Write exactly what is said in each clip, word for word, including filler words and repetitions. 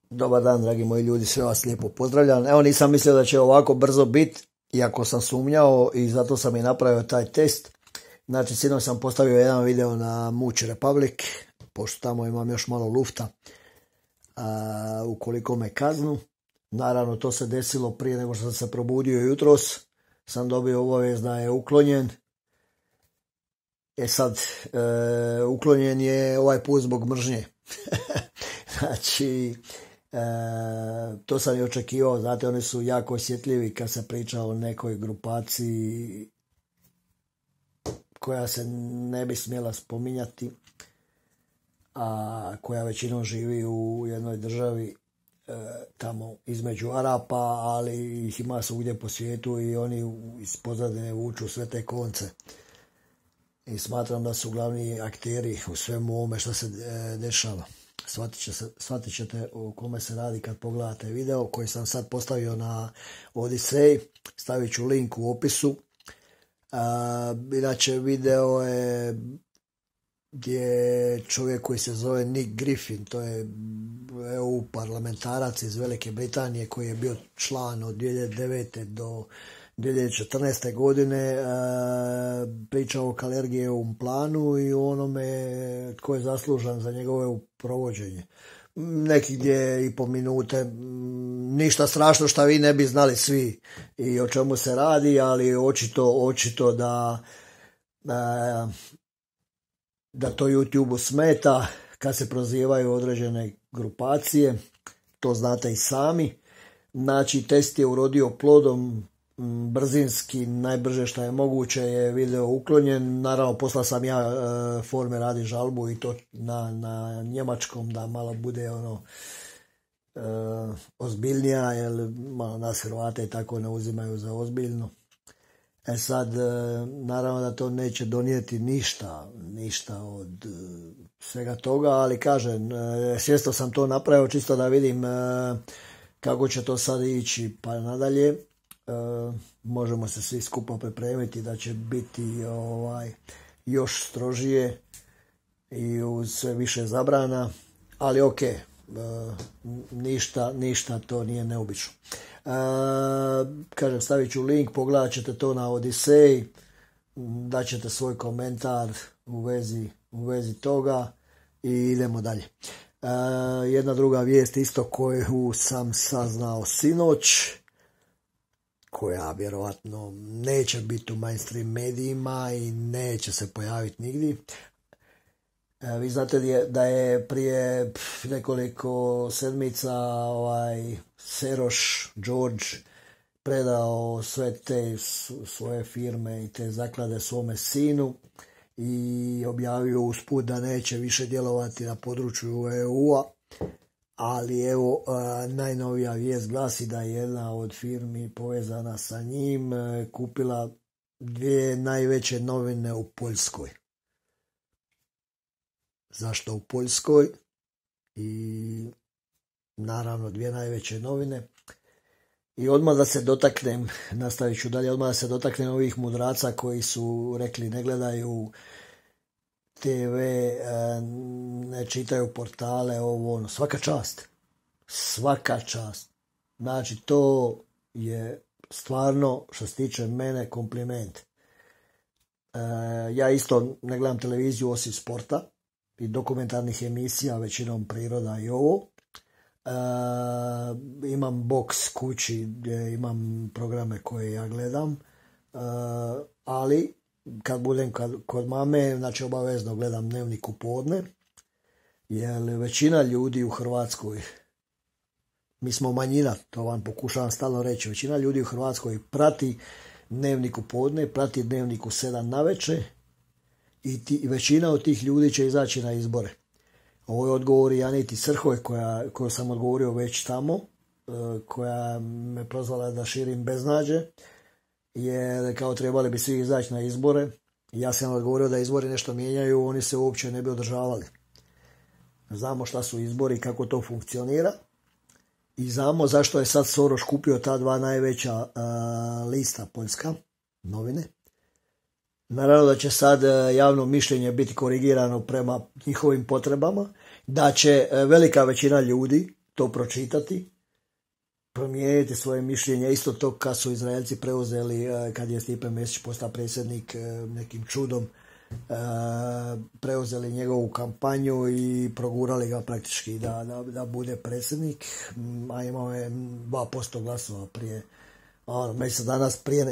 Dobar dan, dragi moji ljudi, sve vas lijepo pozdravljam. Evo, nisam mislio da će ovako brzo biti, iako sam sumnjao i zato sam i napravio taj test. Znači, sinoć sam postavio jedan video na Much Republic, pošto tamo imam još malo lufta, a, ukoliko me kaznu. Naravno, to se desilo prije nego što sam se probudio jutros. Sam dobio obavijest da je uklonjen. E sad, e, uklonjen je ovaj put zbog mržnje. Znači, e, to sam i očekivao. Znate, oni su jako osjetljivi kad se priča o nekoj grupaciji koja se ne bi smjela spominjati, a koja većinom živi u jednoj državi e, tamo između Arapa, ali ih ima svugdje po svijetu i oni iz pozadine vuču sve te konce. I smatram da su glavni akteri u svemu ovome što se e, dešava. Shvatit, će se, shvatit ćete o kome se radi kad pogledate video koji sam sad postavio na Odisej. Stavit ću link u opisu. A, inače, video je gdje čovjek koji se zove Nick Griffin, to je E U parlamentarac iz Velike Britanije koji je bio član od dvije hiljade devete do dvije hiljade četrnaeste. godine, pričao o Kalergijevom planu i onome tko je zaslužan za njegovo provođenje. Neki gdje i po minute, ništa strašno što vi ne bi znali svi i o čemu se radi, ali očito, očito da, da, da to YouTube-u smeta kad se prozivaju određene grupacije, to znate i sami. Znači, test je urodio plodom, brzinski, najbrže što je moguće je video uklonjen. Naravno, poslao sam ja e, forme radi žalbu i to na, na njemačkom da malo bude ono e, ozbiljnija, jer malo nas Hrvate i tako ne uzimaju za ozbiljno. E sad, e, naravno da to neće donijeti ništa, ništa od e, svega toga, ali kažem, e, svjesno sam to napravio čisto da vidim e, kako će to sad ići pa nadalje. Uh, možemo se svi skupa pripremiti da će biti ovaj još strožije i uz sve više zabrana, ali ok, uh, ništa, ništa to nije neobično. Uh, kažem, stavit ću link, pogledat ćete to na Odisej, daćete svoj komentar u vezi, u vezi toga i idemo dalje. Uh, jedna druga vijest isto koju sam saznao sinoć, koja vjerovatno neće biti u mainstream medijima i neće se pojaviti nigdje. E, vi znate da je prije nekoliko sedmica ovaj Seroš George predao sve te svoje firme i te zaklade svome sinu i objavio usput da neće više djelovati na području E U-a. Ali evo, najnovija vijest glasi da je jedna od firmi povezana sa njim kupila dvije najveće novine u Poljskoj. Zašto u Poljskoj? I naravno dvije najveće novine. I odmah da se dotaknem, nastavit ću dalje, odmah da se dotaknem ovih mudraca koji su rekli ne gledaju te ve, ne čitaju portale, ovo ono, svaka čast. Svaka čast. Znači, to je stvarno, što se tiče mene, kompliment. E, ja isto ne gledam televiziju osim sporta i dokumentarnih emisija, većinom priroda i ovo. E, imam box kući gdje imam programe koje ja gledam, e, ali kad budem kod mame, znači obavezno gledam Dnevnik u podne, jer većina ljudi u Hrvatskoj, mi smo manjina, to vam pokušavam stalno reći, većina ljudi u Hrvatskoj prati Dnevnik u podne, prati Dnevnik u sedam navečer i, ti, i većina od tih ljudi će izaći na izbore. Ovo je odgovor Janiti Srhoj, koja, koju sam odgovorio već tamo, koja me prozvala da širim beznađe, jer kao trebali bi svi izaći na izbore. Ja sam odgovorio da izbori nešto mijenjaju, oni se uopće ne bi održavali. Znamo šta su izbori, kako to funkcionira i znamo zašto je sad Soros kupio ta dva najveća uh, lista poljska, novine. Naravno da će sad uh, javno mišljenje biti korigirano prema njihovim potrebama, da će uh, velika većina ljudi, to pročitati, promijeniti svoje mišljenje. Isto to kad su Izraelci preuzeli, kad je Stipe Mesić postao predsjednik nekim čudom, preuzeli njegovu kampanju i progurali ga praktički da, da, da bude predsjednik, a imao je dva posto glasova prije, ono, mjesec danas prije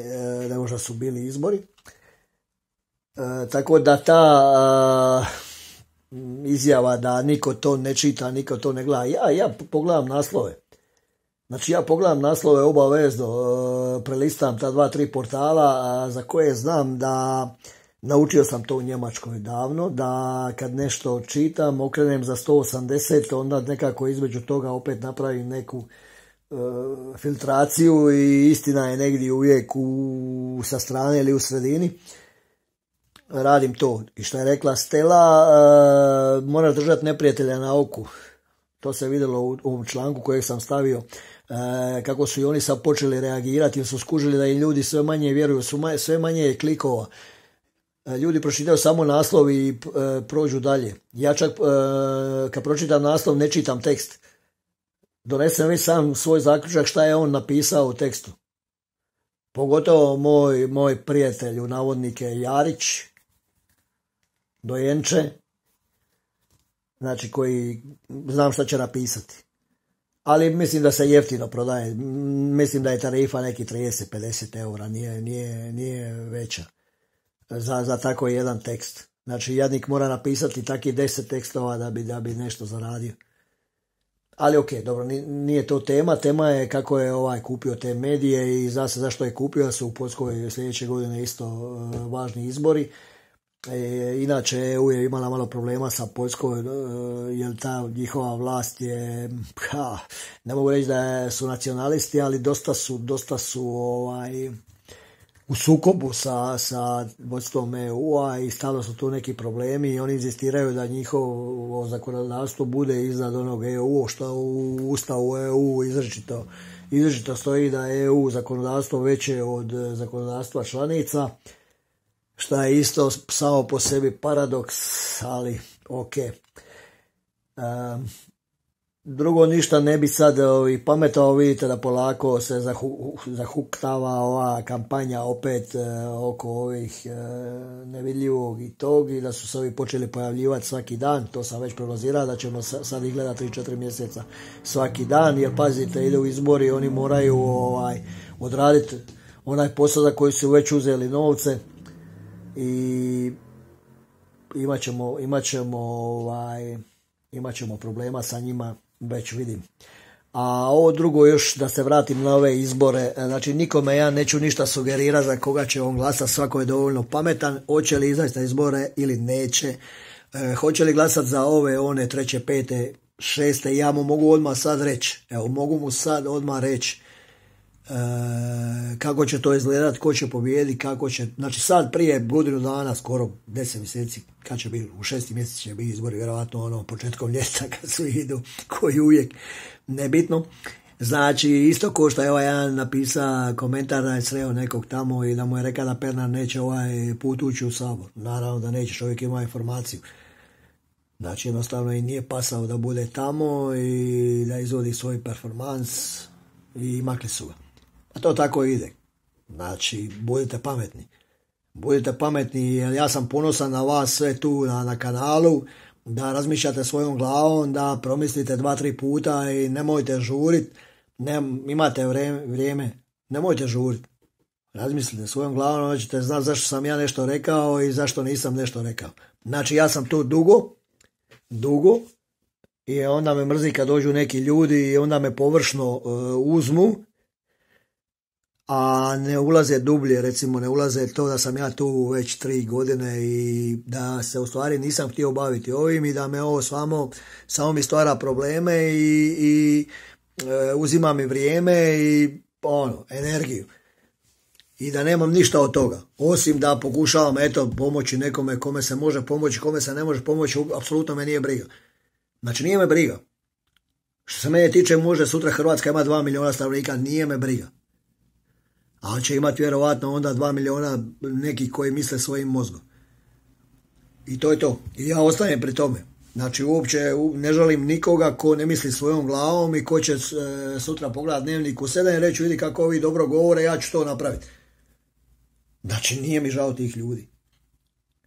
nego što su bili izbori. E, tako da ta izjava da niko to ne čita, niko to ne gleda. Ja, ja pogledam naslove. Znači ja pogledam naslove obavezno, prelistam ta dva, tri portala za koje znam da, naučio sam to u Njemačkoj davno, da kad nešto čitam, okrenem za sto osamdeset, onda nekako između toga opet napravim neku uh, filtraciju i istina je negdje uvijek u, sa strane ili u sredini. Radim to. I što je rekla Stela, uh, moraš držati neprijatelja na oku. To se vidjelo u ovom članku kojeg sam stavio, uh, kako su i oni sad počeli reagirati jer su skužili da i ljudi sve manje vjeruju, su manje, sve manje je klikova. Uh, ljudi pročitaju samo naslov i uh, prođu dalje. Ja čak uh, kad pročitam naslov ne čitam tekst. Donesem već sam svoj zaključak šta je on napisao u tekstu. Pogotovo moj, moj prijatelj u navodnike Jarić, dojenče, znači koji znam šta će napisati. Ali mislim da se jeftino prodaje. Mislim da je tarifa neki trideset do pedeset eura, nije, nije, nije veća za, za tako jedan tekst. Znači jadnik mora napisati takih deset tekstova da bi, da bi nešto zaradio. Ali ok, dobro, nije to tema. Tema je kako je ovaj kupio te medije i zna se zašto je kupio, su u Poljskoj sljedeće godine isto uh, važni izbori. E, inače E U je imala malo problema sa Poljskoj, uh, jer ta njihova vlast je, ha, ne mogu reći da su nacionalisti, ali dosta su, dosta su ovaj, u sukobu sa, sa vodstvom E U-a i stalno su tu neki problemi i oni inzistiraju da njihovo zakonodavstvo bude iznad onog E U, što u Ustavu E U izričito, izričito stoji da je E U zakonodavstvo veće od zakonodavstva članica, što je isto samo po sebi paradoks, ali ok. Um, Drugo ništa ne bi sad ovi, pametao, vidite da polako se zahu, zahuktava ova kampanja opet e, oko ovih e, nevidljivog i tog i da su se ovi počeli pojavljivati svaki dan, to sam već prognozirao da ćemo sad ih gledati tri četiri mjeseca svaki dan, jer pazite, ide u izbori, oni moraju ovaj, odraditi onaj posao za koji su već uzeli novce i imat ćemo, imat ćemo, ovaj, imat ćemo problema sa njima, već vidim. A ovo drugo još da se vratim na ove izbore, znači nikome ja neću ništa sugerirati za koga će on glasati, svako je dovoljno pametan, hoće li izaći na izbore ili neće, e, hoće li glasati za ove, one, treće, pete, šeste, ja mu mogu odmah sad reći, evo mogu mu sad odmah reći e, kako će to izgledati, ko će pobijediti, kako će, znači sad prije godinu dana, skoro deset mjeseci, kad će biti, u šesti mjesec će biti izbori, vjerojatno ono početkom ljeta kad su idu, koji uvijek nebitno. Znači isto ko što je ovaj jedan napisa komentar da je sreo nekog tamo i da mu je rekao da Pernar neće ovaj put ući u Sabor. Naravno da neće, čovjek ima informaciju. Znači jednostavno i nije pasao da bude tamo i da izvodi svoj performans i makli su ga. A to tako ide. Znači budite pametni. Budite pametni jer ja sam ponosan na vas sve tu na, na kanalu, da razmišljate svojom glavom, da promislite dva, tri puta i nemojte žurit, ne, imate vrijeme, vrijeme, nemojte žurit. Razmislite svojom glavom, onda ćete znati zašto sam ja nešto rekao i zašto nisam nešto rekao. Znači ja sam tu dugo, dugo i onda me mrzi kad dođu neki ljudi i onda me površno uh, uzmu, a ne ulaze dublje, recimo ne ulaze to da sam ja tu već tri godine i da se u stvari nisam htio baviti ovim i da me ovo samo, samo mi stvara probleme i, i e, uzima mi vrijeme i ono, energiju. I da nemam ništa od toga, osim da pokušavam eto pomoći nekome kome se može pomoći, kome se ne može pomoći, apsolutno me nije briga. Znači nije me briga. Što se mene tiče, može sutra Hrvatska ima dva milijuna stanovnika, nije me briga. Ali će imati vjerovatno onda dva milijuna nekih koji misle svojim mozgom. I to je to. I ja ostajem pri tome. Znači uopće ne žalim nikoga ko ne misli svojom glavom i ko će e, sutra pogledat dnevnik u sedam i reći vidi kako ovi dobro govore, ja ću to napraviti. Znači nije mi žao tih ljudi.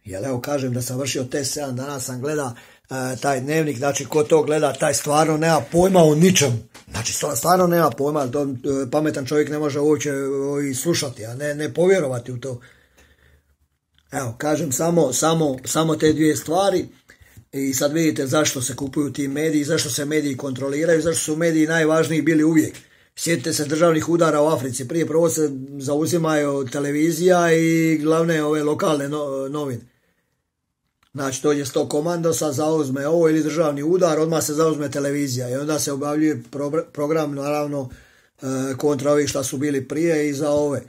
Jer evo kažem da sam vršio test sedam dana, sam gleda e, taj dnevnik, znači ko to gleda, taj stvarno nema pojma o ničem. Znači stvarno nema pojma, to, e, pametan čovjek ne može uopće e, slušati, a ne, ne povjerovati u to. Evo kažem samo, samo, samo te dvije stvari. I sad vidite zašto se kupuju ti mediji, zašto se mediji kontroliraju, zašto su mediji najvažniji bili uvijek. Sjetite se državnih udara u Africi, prije prvo se zauzimaju televizija i glavne ove lokalne no, novine. Znači dođe sto komandosa, zauzme ovo ili državni udar, odmah se zauzme televizija i onda se objavljuje pro, program naravno e, kontra ovih šta su bili prije i za ove.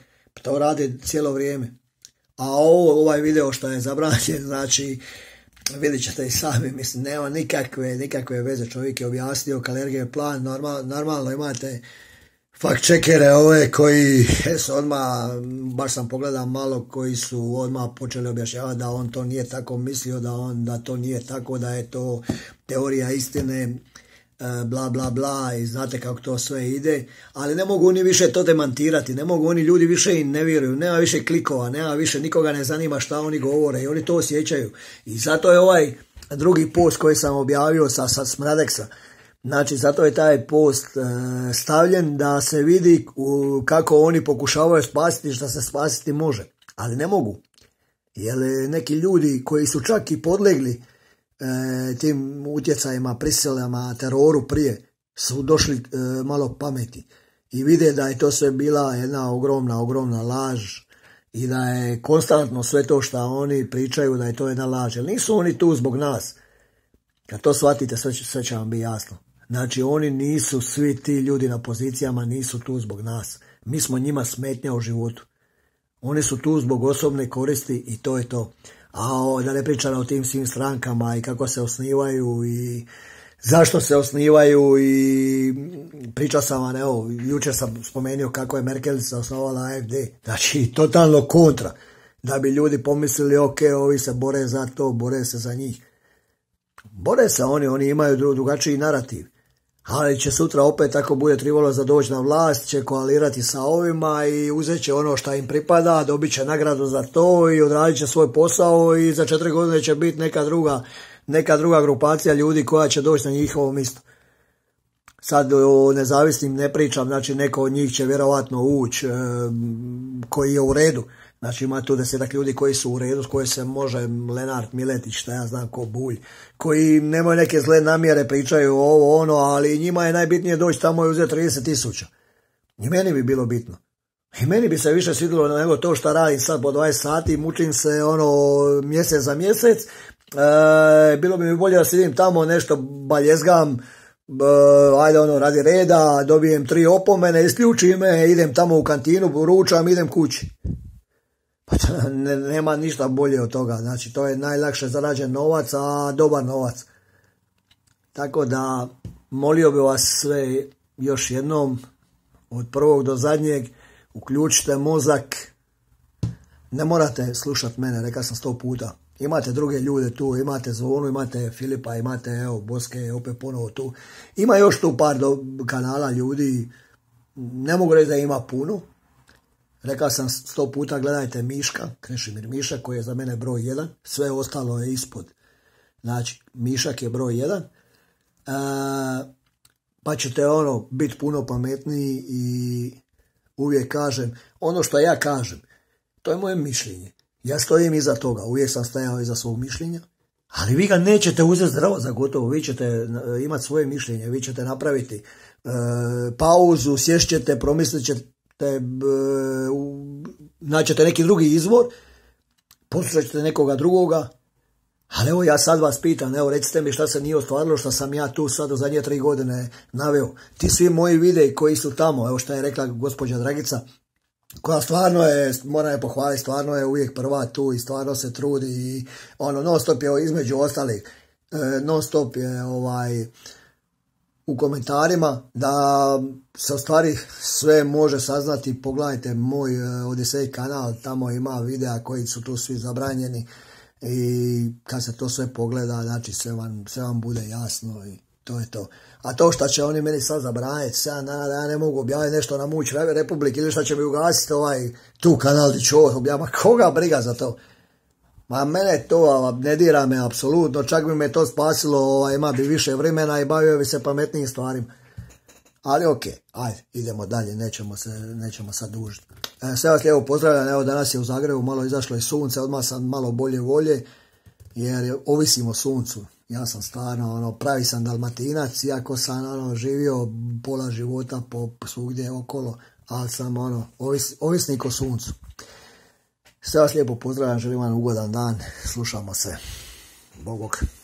To rade cijelo vrijeme. A ovo, ovaj video što je zabranjen, znači vidjet ćete i sami, mislim, nema nikakve, nikakve veze, čovjek je objasnio Kalergijev plan, normal, normalno imate fact checkere ove koji su odmah, baš sam pogledao malo, koji su odmah počeli objašnjavati da on to nije tako mislio, da on da to nije tako, da je to teorija istine, bla bla bla i znate kako to sve ide, ali ne mogu oni više to demantirati, ne mogu oni, ljudi više im ne vjeruju, nema više klikova, nema više, nikoga ne zanima šta oni govore i oni to osjećaju. I zato je ovaj drugi post koji sam objavio sa, sa Smradeksa, znači zato je taj post e, stavljen da se vidi u, kako oni pokušavaju spasiti što se spasiti može, ali ne mogu, jer neki ljudi koji su čak i podlegli E, tim utjecajima, prisilama, teroru prije su došli e, malo pameti i vide da je to sve bila jedna ogromna, ogromna laž i da je konstantno sve to što oni pričaju da je to jedna laž. Jer nisu oni tu zbog nas. Kad to shvatite, sve, sve će vam biti jasno. Znači oni nisu, svi ti ljudi na pozicijama nisu tu zbog nas. Mi smo njima smetnja u životu. Oni su tu zbog osobne koristi i to je to. A o, da ne pričam o tim svim strankama i kako se osnivaju i zašto se osnivaju i pričao sam vam, evo, jučer sam spomenuo kako je Merkelica osnovala A F D. Znači, totalno kontra. Da bi ljudi pomislili, ok, ovi se bore za to, bore se za njih. Bore se oni, oni imaju drugačiji narativ. Ali će sutra opet, ako bude trebalo za doći na vlast, će koalirati sa ovima i uzet će ono što im pripada, dobit će nagradu za to i odradit će svoj posao i za četiri godine će biti neka druga, neka druga grupacija ljudi koja će doći na njihovo mjesto. Sad o nezavisnim ne pričam, znači neko od njih će vjerovatno ući e, koji je u redu. Znači ima tu desetak ljudi koji su u redu, s koji se može Lenart, Miletić, šta ja znam ko Bulj, koji nemaju neke zle namjere, pričaju ovo ono, ali njima je najbitnije doći tamo i uzeti trideset tisuća. I meni bi bilo bitno. I meni bi se više svidjelo nego to što radim sad po dvadeset sati, mučim se ono mjesec za mjesec. E, bilo bi mi bolje da sidim tamo nešto baljezgam, e, ajde ono radi reda, dobijem tri opomene, isključim me, idem tamo u kantinu, ručam, idem kući. Ne, nema ništa bolje od toga, znači to je najlakše zarađen novac, a dobar novac. Tako da molio bi vas sve još jednom, od prvog do zadnjeg, uključite mozak, ne morate slušati mene, rekao sam sto puta. Imate druge ljude tu, imate Zvonu, imate Filipa, imate evo Boske, opet ponovo tu. Ima još tu par do kanala ljudi, ne mogu reći da ima puno. Rekao sam sto puta, gledajte Miška, Krešimir Mišak koji je za mene broj jedan, sve ostalo je ispod. Znači, Mišak je broj jedan, e, pa ćete ono biti puno pametniji i uvijek kažem, ono što ja kažem, to je moje mišljenje. Ja stojim iza toga, uvijek sam stajao iza svog mišljenja, ali vi ga nećete uzeti zdravo za gotovo, vi ćete imati svoje mišljenje, vi ćete napraviti e, pauzu, sješćete, promislit ćete, Te, naćete neki drugi izvor, poslušat ćete nekoga drugoga, ali evo ja sad vas pitam, evo recite mi šta se nije ostvarilo, što sam ja tu sad u zadnje tri godine naveo. Ti svi moji videi koji su tamo, evo šta je rekla gospođa Dragica, koja stvarno je, moram je pohvaliti, stvarno je uvijek prva tu i stvarno se trudi i ono, non stop je između ostalih, non stop je ovaj u komentarima, da se u stvari sve može saznati. Pogledajte moj Odisej kanal, tamo ima videa koji su tu svi zabranjeni i kad se to sve pogleda, znači sve vam, sve vam bude jasno i to je to. A to što će oni meni sad zabraniti sedam dana da ja ne mogu objaviti nešto na Muć Republik ili što će mi ugasiti ovaj tu kanal di ću ovo objaviti, koga briga za to? Ma mene to ne dira me apsolutno, čak bi me to spasilo, ovaj, ima bi više vremena i bavio bi se pametnijim stvarima. Ali ok, ajde, idemo dalje, nećemo se, nećemo sad dužiti. E, sve vas lijepo pozdravljam, evo danas je u Zagrebu malo izašlo i sunce, odmah sam malo bolje volje, jer ovisim o suncu. Ja sam stvarno, ono, pravi sam Dalmatinac, iako sam, ono, živio pola života po svugdje okolo, ali sam, ono, ovis, ovisnik o suncu. Sve vas lijepo pozdravljam, želim vam ugodan dan, slušamo se. Bog bog.